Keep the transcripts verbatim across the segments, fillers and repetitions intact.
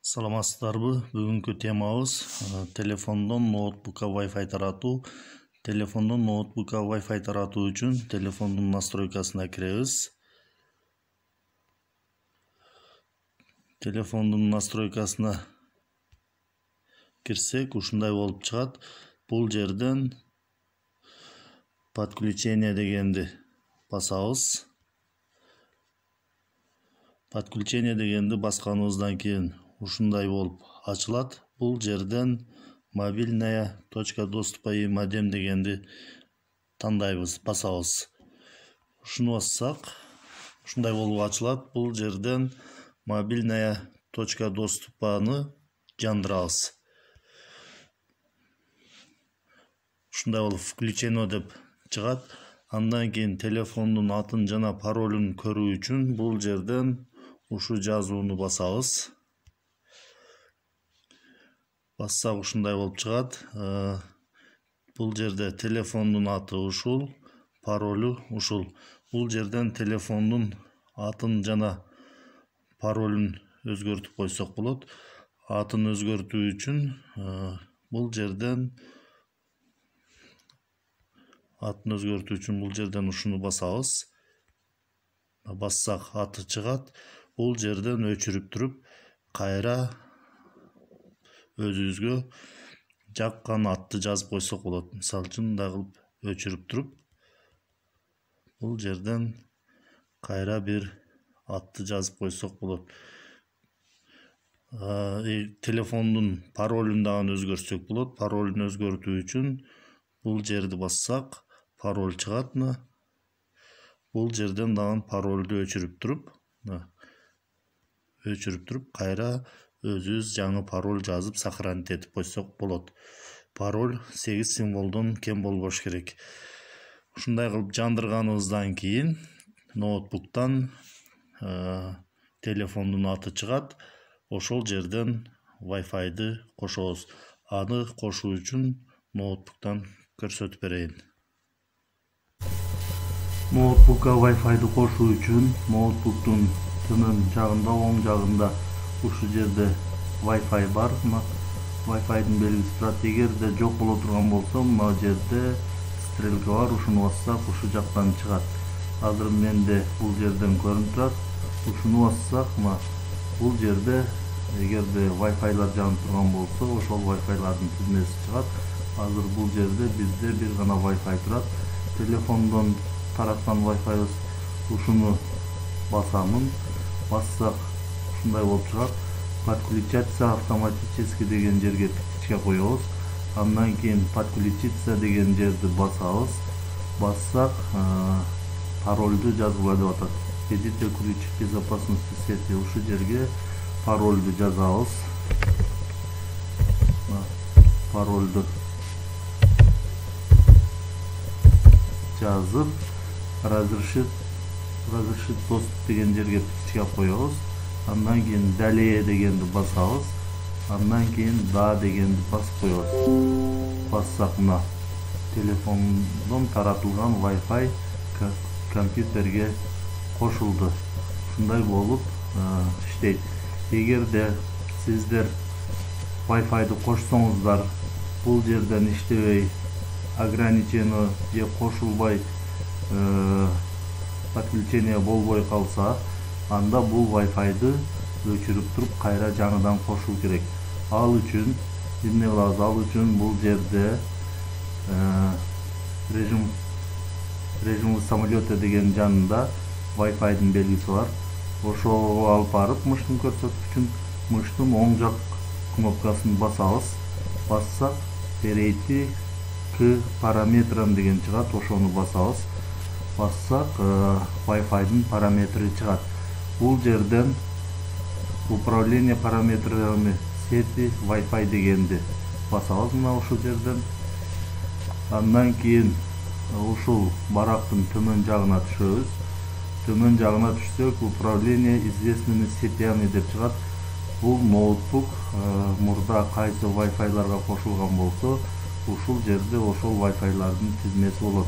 Саламатсыздарбы? Бүгүнкү темабыз телефондон ноутбукка Wi-Fi таратуу. Телефондон ноутбукка Wi-Fi таратуу үчүн телефондун настройкасына киребиз. Телефондун настройкасына кирсек, ушундай болуп чыгат. Бул жерден подключение дегенди басабыз. Подключение дегенди басканыбыздан кийин ушундай болуп ачылат. Бул жерден мобильная точка доступа и модем дегенди тандайбыз, басабыз. Ушуну бассак, ушундай болуп ачылат. Бул жерден мобильная точка доступаны жандырабыз. Ушундай болуп включено деп чыгат. Андан кийин телефондун атын жана паролун көрүү үчүн бул жерден ушу жазууну басабыз. Бассак ушундай болуп чыгат. Бул жерде телефондун аты ушул, паролу ушул. Бул жерден телефондун атын жана паролун өзгөртүп койсок болот. Атын өзгөртүү үчүн бул жерден атын өзгөртүү үчүн бул жерден ушуну басабыз. Бассак аты чыгат. Бул жерден өчүрүп туруп, кайра өзүбүзгө жаккан атты жазып койсок болот. Мисалы үчүн мындай кылып өчүрүп туруп, бул жерден кайра бир атты жазып койсок болот. Телефондун паролун дагы өзгөртсөк болот. Паролун өзгөртүү үчүн бул жерди бассак, пароль чыгат. Бул жерден дагы паролду өчүрүп туруп, өчүрүп туруп, кайра өзүбүз жаңы пароль жазып сохранить этип койсок болот. Пароль сегиз символдон кем болбош керек. Ушундай кылып жандырганыбыздан кийин ноутбуктан телефондун аты чыгат. Ошол жерден Wi-Fi'ды кошобуз. Аны кошуу үчүн ноутбуктан көрсөтүп берейин. Ноутбукка Wi-Fi'ды кошуу үчүн ноутбуктун төмөн жагында, оң жагында ушу жерде Wi-Fi бар. Wi-Fi'дин белгиси турат. Эгерде жок боло турган болсо, мына жерде стрелка бар. Ушуну бассак, ушу жактан чыгат. Азыр менде бул жерден көрүнүп турат. Ушуну бассак, мына бул жерде эгерде Wi-Fi'лар жанып турган болсо, ошол Wi-Fi'лардын тизмеси чыгат. Азыр бул жерде бизде бир гана Wi-Fi турат. Телефондон тараткан Wi-Fi'быз. Ушуну басамын. Бассак, ушундай болуп чыгат. Подключаться автоматически деген жерге тикичке коебуз. Андан кийин подключиться деген жерди басабыз. Бассак, паролду жазгыла деп атат. Введите ключ безопасности сети. Ушу жерге паролду жазабыз. Паролду жазып, разрешит разрешит доступ деген жерге тикичке коебуз. Андан кийин далее дегенди басабыз. Андан кийин да дегенди басып коебуз. Бассак, мына телефондон таратылган Wi-Fi компьютерге кошулду. Ушундай болуп иштейт. Эгерде сиздер Wi-Fi'ды кошсоңуздар, бул жерден иштебей, ограничение же кошулбай, подключение болбой калса, анда бул Wi-Fi'ды өчүрүп туруп, кайра жаңыдан кошуу керек. Ал үчүн эмне кылабыз? Ал үчүн бул жерде режим режим самолета деген жанында Wi-Fi'дин белгиси бар. Ошого алып барып, мыштын көрсөткүчүн, мыштын оң жак кнопкасын басабыз. Бассак, перейти к параметрам деген чыгат. Ошону басабыз. Бассак, Wi-Fi'дин параметри чыгат. Бул жерден управление параметрами сети Wi-Fi дегенди басабыз. Мына ушул жерден. Андан кийин ушул барактын төмөн жагына түшөбүз. Төмөн жагына түшсөк, управление известными сетями деп чыгат. Бул ноутбук мурда кайсы Wi-Fi'ларга кошулган болсо, ушул жерде ошол Wi-Fi'лардын тизмеси болот.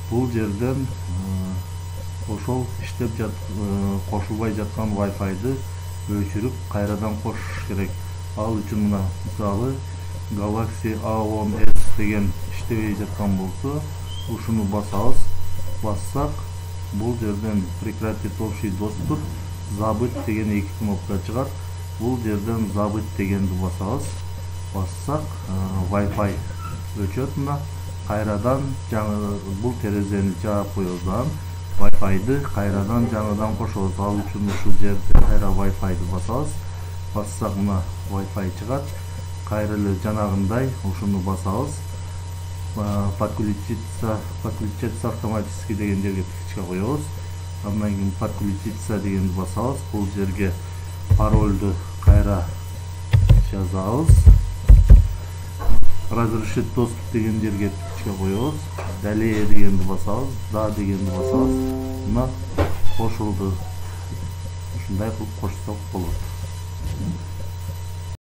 Бул жерден ошол иштеп жат кошулбай жаткан Wi-Fi'ды өчүрүп, кайрадан кошуш керек. Ал үчүн мына мисалы Galaxy A on S деген иштебей жаткан болсо, ушуну басабыз. Бассак, бул жерден прекратить общий доступ, забыть деген эки кнопка чыгат. Бул жерден забыть дегенди басабыз. Бассак, Wi-Fi өчөт мына. Кайрадан жаңы бул терезени жаап коебуз. Анан Wi-Fi'ды кайрадан жаңыдан кошобуз. Ал үчүн ушул жерде кайра Wi-Fi'ды басабыз. Бассак мына Wi-Fi чыгат. Кайра эле жанагындай ушуну басабыз. Подключиться, подключиться автоматически деген жерге тикичке коебуз. Андан кийин подключиться дегенди басабыз. Бул жерге парольду кайра жазабыз. Разрешить доступ деген жерге тикичке коебуз. Далее дегенди басабыз, да дегенди басабыз. Мына кошулду. Ушундай кылып кошсок болот.